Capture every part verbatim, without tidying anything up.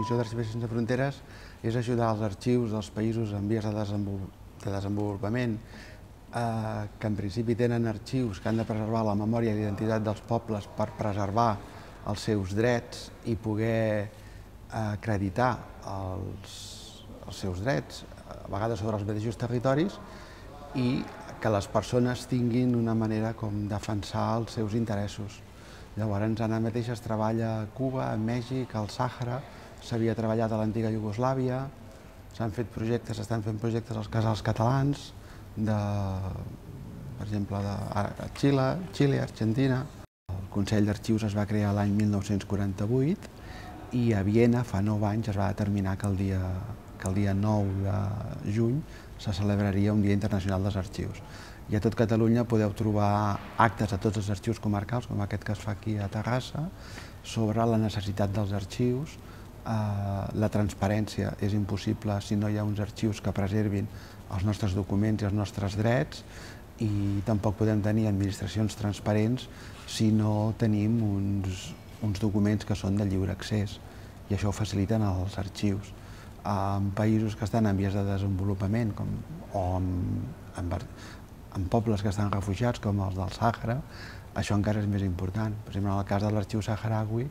missió d'Arxivers Sense Fronteres és ajudar els arxius dels països en vies de desenvolupament, que en principi tenen arxius que han de preservar la memòria i l'identitat dels pobles per preservar els seus drets i poder acreditar els seus drets, a vegades sobre els mateixos territoris, i que les persones tinguin una manera com defensar els seus interessos. Llavors, ara mateix es treballa a Cuba, a Mèxic, al Sàhara, s'havia treballat a l'antiga Iugoslàvia, s'han fet projectes, s'estan fent projectes als casals catalans, per exemple, a Xile, Argentina. El Consell d'Arxius es va crear l'any mil nou-cents quaranta-vuit i a Viena, fa nou anys, es va determinar que el dia que el dia nou de juny se celebraria un Dia Internacional dels Arxius. I a tot Catalunya podeu trobar actes a tots els arxius comarcals, com aquest que es fa aquí a Terrassa, sobre la necessitat dels arxius. La transparència és impossible si no hi ha uns arxius que preservin els nostres documents i els nostres drets, i tampoc podem tenir administracions transparents si no tenim uns documents que són de lliure accés, i això ho faciliten els arxius. En països que estan en vies de desenvolupament o en pobles que estan refugiats, com els del Sàhara, això encara és més important. Per exemple, en el cas de l'arxiu saharaui,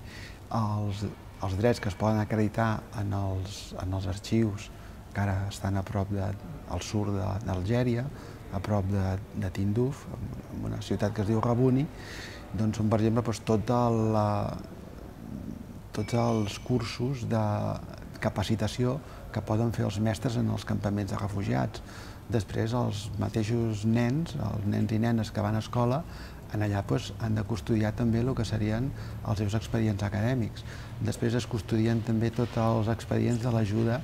els drets que es poden acreditar en els arxius que ara estan a prop al sud d'Algèria, a prop de Tinduf, en una ciutat que es diu Rabuni, doncs són, per exemple, tots els cursos de capacitació que poden fer els mestres en els campaments de refugiats. Després, els mateixos nens, els nens i nenes que van a escola, allà han de custodiar també el que serien els seus expedients acadèmics. Després es custodien també tots els expedients de l'ajuda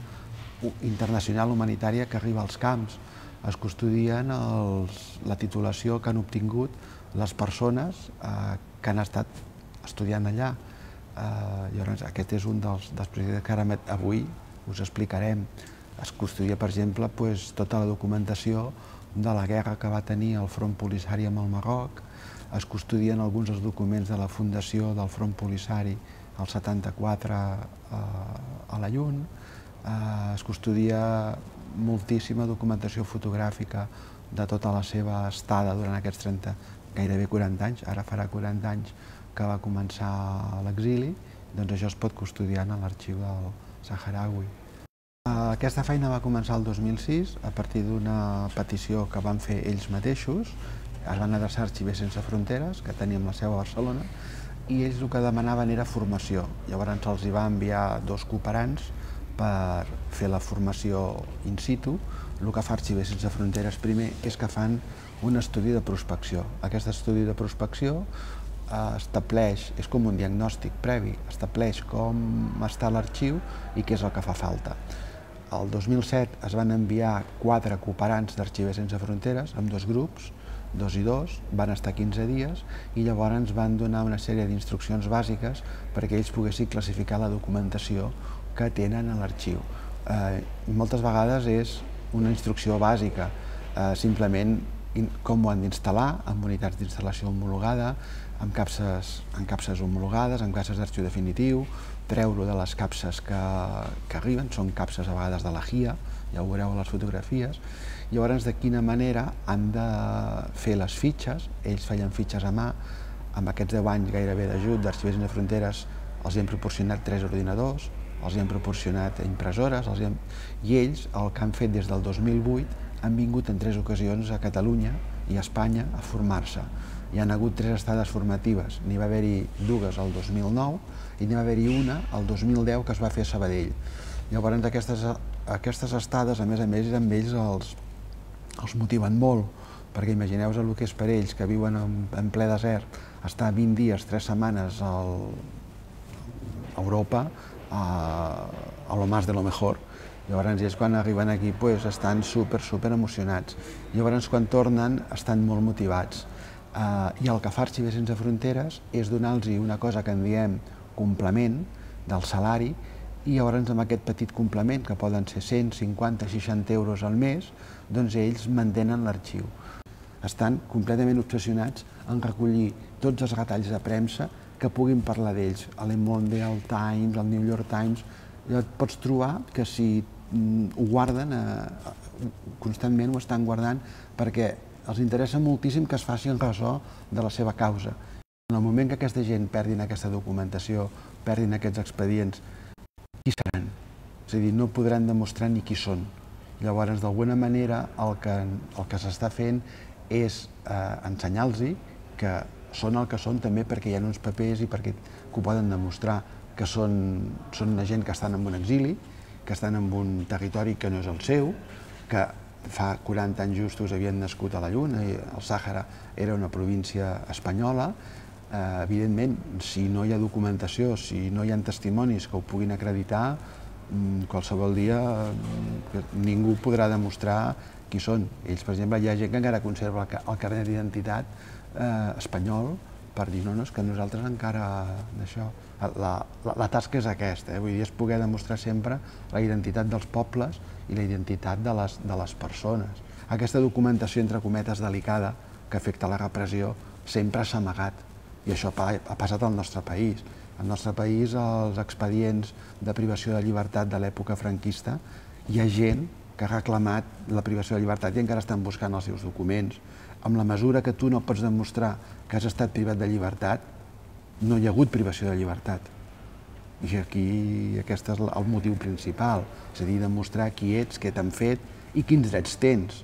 internacional humanitària que arriba als camps. Es custodien la titulació que han obtingut les persones que han estat estudiant allà. Llavors, aquest és un dels projectes que ara avui us explicarem. Es custodia, per exemple, tota la documentació de la guerra que va tenir el Front Polisari amb el Marroc. Es custodien alguns dels documents de la fundació del Front Polisari al setanta-quatre a la Llun. Es custodia moltíssima documentació fotogràfica de tota la seva estada durant aquests trenta, gairebé quaranta anys, ara farà quaranta anys que va començar l'exili, doncs això es pot custodiar en l'arxiu del saharaui. Aquesta feina va començar el dos mil sis a partir d'una petició que van fer ells mateixos. Es van adreçar a Arxivers Sense Fronteres, que teníem la seu a Barcelona, i ells el que demanaven era formació. Llavors se'ls va enviar dos cooperants per fer la formació in situ. El que fa Arxivers Sense Fronteres primer és que fan un estudi de prospecció. Aquest estudi de prospecció estableix, és com un diagnòstic previ, estableix com està l'arxiu i què és el que fa falta. El dos mil set es van enviar quatre cooperants d'Arxivers Sense Fronteres amb dos grups, dos i dos, van estar quinze dies i llavors ens van donar una sèrie d'instruccions bàsiques perquè ells poguessin classificar la documentació que tenen a l'arxiu. Moltes vegades és una instrucció bàsica, simplement com ho han d'instal·lar, amb unitats d'instal·lació homologada, amb capses homologades, amb capses d'arxiu definitiu, treure-ho de les capses que arriben, són capses a vegades de la G I A, ja ho veureu a les fotografies. Llavors, de quina manera han de fer les fitxes, ells feien fitxes a mà, amb aquests deu anys gairebé d'ajut d'Arxivers Sense Fronteres els hem proporcionat tres ordinadors, els hem proporcionat impressores, i ells, el que han fet des del dos mil vuit, han vingut en tres ocasions a Catalunya i a Espanya a formar-se. Hi ha hagut tres estades formatives, n'hi va haver-hi dues el dos mil nou i n'hi va haver-hi una el dos mil deu que es va fer a Sabadell. Llavors aquestes estades, a més a més, amb ells els motiven molt, perquè imagineu-vos el que és per ells, que viuen en ple desert, estar vint dies, tres setmanes a Europa, a lo más de lo mejor. Llavors ells quan arriben aquí estan super, super emocionats. Llavors quan tornen estan molt motivats. I el que fa Arxivers Sense Fronteres és donar-los una cosa que en diem complement del salari, i llavors amb aquest petit complement, que poden ser cent cinquanta seixanta euros al mes, doncs ells mantenen l'arxiu. Estan completament obsessionats en recollir tots els retalls de premsa que puguin parlar d'ells. El Le Monde, el Times, el New York Times, et pots trobar que si ho guarden, constantment ho estan guardant, perquè els interessa moltíssim que es faci en ressò de la seva causa. En el moment que aquesta gent perdin aquesta documentació, perdin aquests expedients, qui seran? És a dir, no podran demostrar ni qui són. Llavors, d'alguna manera, el que, el que s'està fent és eh, ensenyar-los que són el que són també perquè hi ha uns papers i perquè que ho poden demostrar, que són, són una gent que estan en un exili, que estan en un territori que no és el seu, que fa quaranta anys justos havien nascut a la Lluna i el Sàhara era una província espanyola. Eh, evidentment, si no hi ha documentació, si no hi ha testimonis que ho puguin acreditar, qualsevol dia ningú podrà demostrar qui són. Ells, per exemple, hi ha gent que encara conserva el carnet d'identitat eh, espanyol per dir, no, no, és que nosaltres encara d'això... La, la, la tasca és aquesta, eh? Vull dir, és poder demostrar sempre la identitat dels pobles i la identitat de les, de les persones. Aquesta documentació, entre cometes, delicada, que afecta la repressió, sempre s'ha amagat. I això ha, ha passat al nostre país. Al nostre país, els expedients de privació de llibertat de l'època franquista, hi ha gent que ha reclamat la privació de llibertat i encara estan buscant els seus documents. Amb la mesura que tu no pots demostrar que has estat privat de llibertat, no hi ha hagut privació de llibertat. I aquí aquest és el motiu principal, és a dir, demostrar qui ets, què t'han fet i quins drets tens.